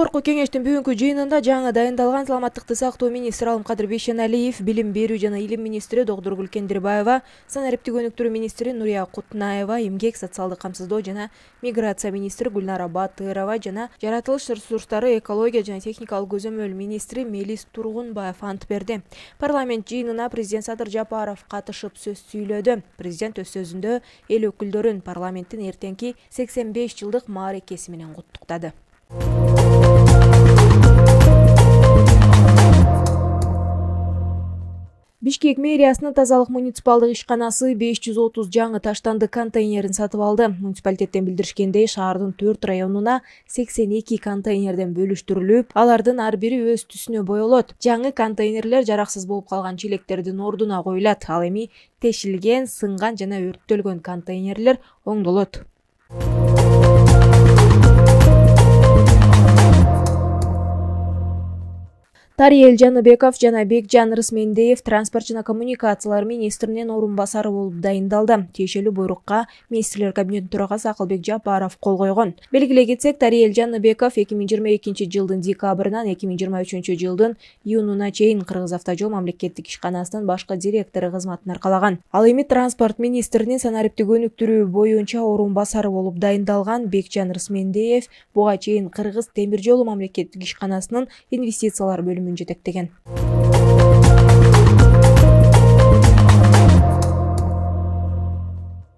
Жогорку кеңештин бүгүнкү жыйынында жаңы дайындалган саламаттыкты сактоо министри Алымкадыр Бейшеналиев, билим берүү жана илим министри Докторгүл Гүлкендирбаева, санариптик өнүктүрүү министри Нурия Кутунаева, эмгек, социалдык камсыздоо жана миграция министри Гүлнара Батырова жана жаратылыш ресурстары, экология жана техникалык көзөмөл министри Мелис Тургунбаев ант берди. Парламент жыйынына президент Садыр Жапаров катышып сөз сүйлөдү. Президент өз сөзүндө эл өкүлдөрүн парламенттин эртеңки 85 жылдык мааракеси менен куттуктады. Бишкек мэриясынын тазалык муниципалдык ишканасы 530 жаңы таштанды контейнерин сатып алды. Муниципалитеттен билдиришкендей, шаардын 4 районуна 82 контейнерден бөлүштүрүлүп, алардын ар бири өз түсүнө боелот. Жаңы контейнерлер жараксыз болуп калган челектердин ордуна коюлат. Ал эми тешилген, сынган жана өрттөлгөн контейнерлер оңдолот. Тариел Жаныбеков жана Бекжан Рысмендеев транспорт жана коммуникациялар министринин орун басары болуп дайындалды. Тиешелүү буйрукка министрлер кабинетинин төрагасы Акылбек Жапаров кол койгон. Белгилей кетсек, Тариел Жаныбеков 2022 жылдын декабрынан 2023 жылдын июнуна чейин Кыргыз автожол мамлекеттик ишканасынын башкы директору кызматын аркалаган. Ал эми транспорт министринин санариптик өнүктүрүү боюнча орун басары болуп дайындалган. Бекжан Рысмендеев буга чейин Кыргыз темир жолу мамлекеттик ишканасынын инвестициялар бөлүмүн жетектеген.